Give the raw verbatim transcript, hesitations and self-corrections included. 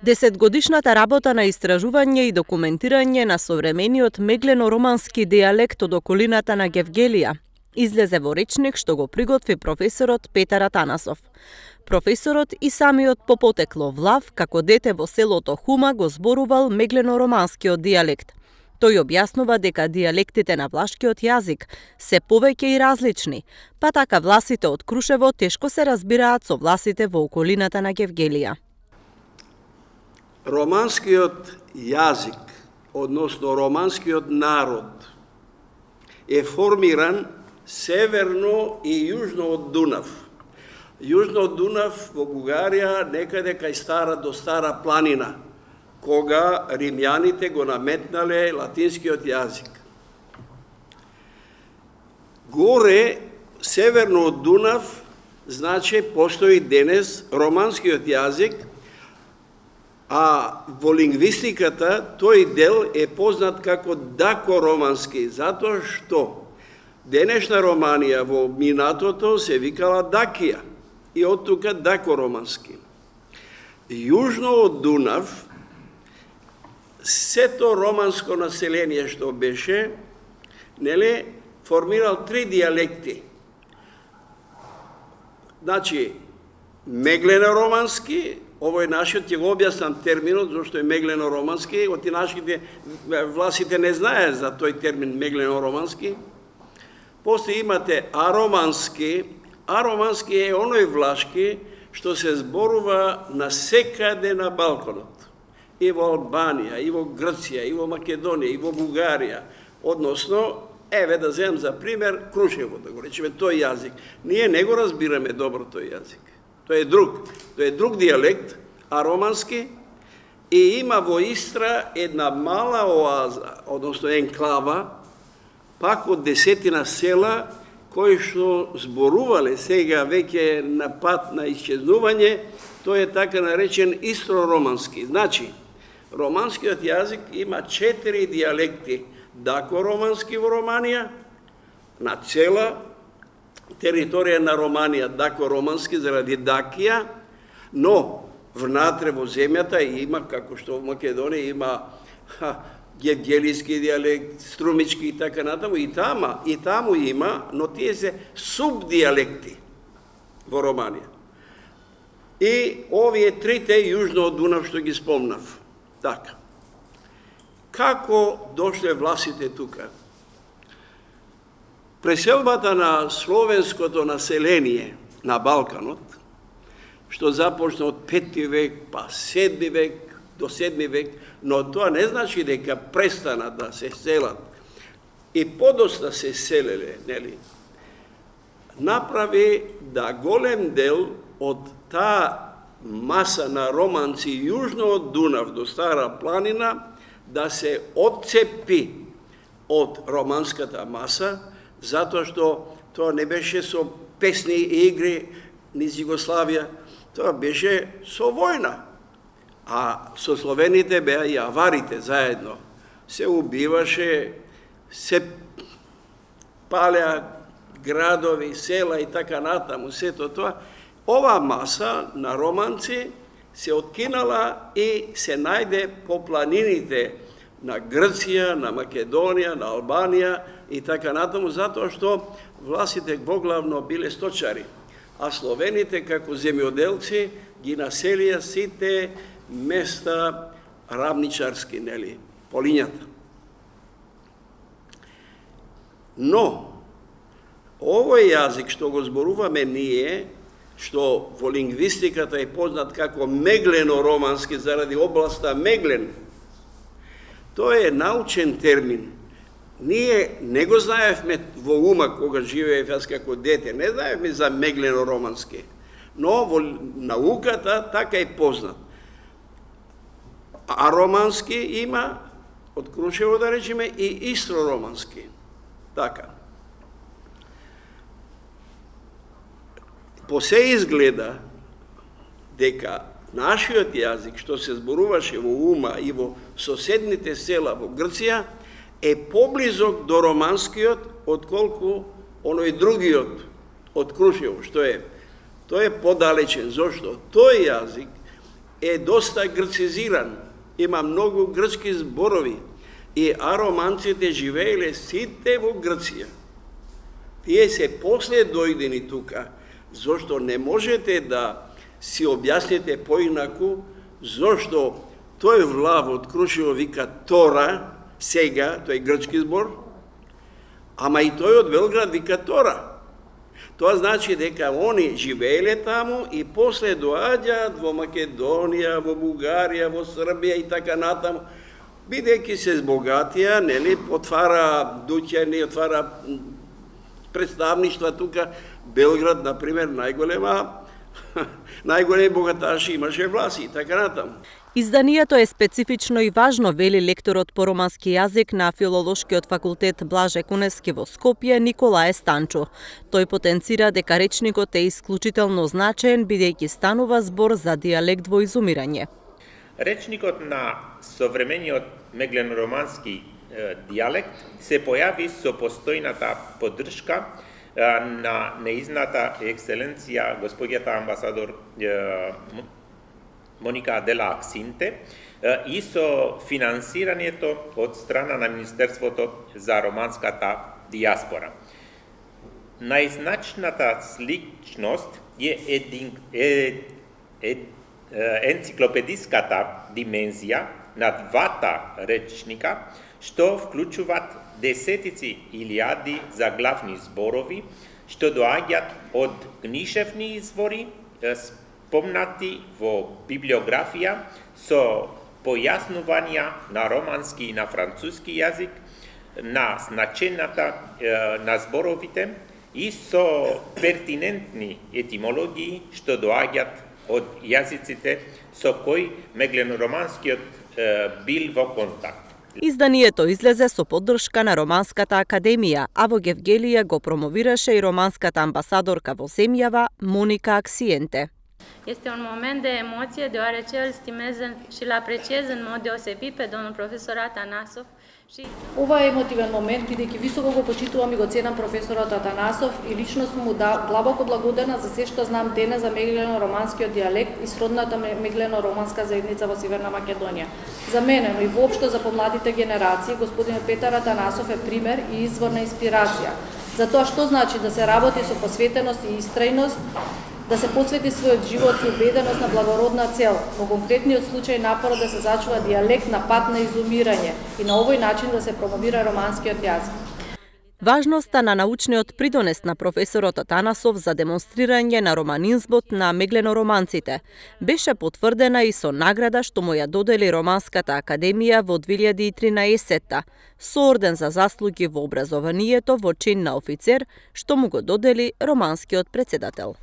Десетгодишната работа на истражување и документирање на современиот меглено-романски дијалект од околината на Гевгелија излезе во речник што го приготви професорот Петар Атанасов. Професорот и самиот по потекло влав, како дете во селото Хума, го зборувал меглено-романскиот дијалект. Тој објаснува дека дијалектите на влашкиот јазик се повеќе и различни, па така власите од Крушево тешко се разбираат со власите во околината на Гевгелија. Романскиот јазик, односно романскиот народ, е формиран северно и јужно од Дунав. Јужно од Дунав во Бугарија, некаде кај стара до Стара планина, кога римјаните го наметнале латинскиот јазик. Горе, северно од Дунав, значи постои денес романскиот јазик, а во лингвистиката тој дел е познат како дакоромански, затоа што денешна Романија во минатото се викала Дакија и од тука дакоромански. Јужно од Дунав, сето романско население што беше, нели, формирал три дијалекти. Значи, меглено-романски, овој нашиот ќе го објаснам терминот, зашто е меглено-романски, оти нашите власите не знаат за тој термин меглено-романски. После имате аромански, аромански е оној влашки што се зборува на секаде на Балканот. И во Албанија, и во Грција, и во Македонија, и во Бугарија. Односно, еве да земам за пример Крушево, да го речеме тој јазик. Ние не го разбираме добро тој јазик. Тој е друг, тој е друг дијалект, аромански, и има во Истра една мала оаза, односно енклава, пак од десетина села, кои што зборувале сега веќе на пат на исчезнување, тој е така наречен истро-романски. Значи, романскиот јазик има четири дијалекти. Дакоромански во Романија, на цела територија на Романија дакоромански заради Дакија, но внатре во земјата има, како што во Македонија има ха, гевгелиски дијалект, струмички и така натаму, и тама, и таму има, но тие се субдијалекти во Романија. И овие трите јужно од Дунав што ги спомнав. Така. Како дошле власите тука? Преселбата на словенското население на Балканот, што започна од пети век, па седми век, до седми век, но тоа не значи дека престана да се селат. И подоста се селеле, нели? Направи да голем дел од таа маса на романци јужно од Дунав до Стара планина да се отцепи од романската маса, затоа што тоа не беше со песни и игри низ Југославија, тоа беше со војна. А со словените беа и аварите заедно. Се убиваше, се палеа градови, села и така натаму, сето тоа. Ова маса на романци се откинала и се најде по планините на Грција, на Македонија, на Албанија и така натаму, затоа што власите поглавно биле сточари, а словените како земјоделци ги населија сите места равничарски, нели, полињата. Но, овој јазик што го зборуваме ние, што во лингвистиката е познат како меглено-романски заради областа Меглен, тој е научен термин. Ние не го знаевме во ума кога живеев јас како дете, не знаевме за меглено-романски, но во науката така е познат. А романски има, од Крушево да речеме, и истро-романски. Така. По се изгледа дека нашиот јазик, што се зборуваше во Ума и во соседните села во Грција, е поблизок до романскиот отколку оној другиот од Крушево, што е, тој е подалечен. Зошто? Тој јазик е доста грцизиран, има многу грчки зборови и ароманците живееле сите во Грција. Тие се после дојдени тука, зашто не можете да си објасните поинаку зашто тој влав од Крушево вика Тора, сега, тој грчки збор, ама и тој од Белград вика Тора. Тоа значи дека они живееле таму и после доаѓаат во Македонија, во Бугарија, во Србија и така натаму, бидејќи се збогатија, нели, отвара дуќани, отвара представништва тука. Белград, например, најголема, најголеми богаташи имаше власи и така натаму. Изданието е специфично и важно, вели лекторот по романски јазик на Филолошкиот факултет Блаже Куневски во Скопје Николаe Станчо. Тој потенцира дека речникот е исклучително значаен бидејќи станува збор за дијалект во изумирање. Речникот на современиот меглено-романски дијалект се појави со постојната поддршка на неизната екселенција господјата амбасадор Моника Дела Аксинте и со финансирањето од страна на Министерството за романската дијаспора. Најзначната сличност е, един, е, е енциклопедиската димензија на двата речника, што вклучуваат десетици илјади заглавни зборови, што доаѓаат од книжевни извори, спомнати во библиографија со појаснувања на романски и на француски јазик, на значената на зборовите и со пертинентни етимологии што доаѓаат од јазиците со кои меглено-романскиот бил во контакт. Изданието излезе со поддршка на Романската академија, а во Гевгелија го промовираше и романската амбасадорка во земјава Monica Acciente. Este un moment de emoție, deoarece îl stimez și îl apreciez în mod deosebit pe domnul profesor Atanasov. Ова е емотивен момент, бидејќи високо го почитувам и го ценам професорот Атанасов и лично сум му да длабоко благодарна за се што знам денес за меглено-романскиот дијалект и сродната меглено-романска заедница во Северна Македонија. За мене, но и воопшто за помладите генерации, господинот Петар Атанасов е пример и извор на инспирација за тоа што значи да се работи со посветеност и истрајност, да се посвети својот живот со убеденост на благородна цел, во конкретниот случај напорот да се зачува дијалект на пат на изумирање и на овој начин да се промовира романскиот јазик. Важноста на научниот придонес на професорот Атанасов за демонстрирање на романизмот на меглено-романците беше потврдена и со награда што му ја додели Романската академија во две илјади и тринаесетта со орден за заслуги во образованието во чин на офицер што му го додели романскиот претседател.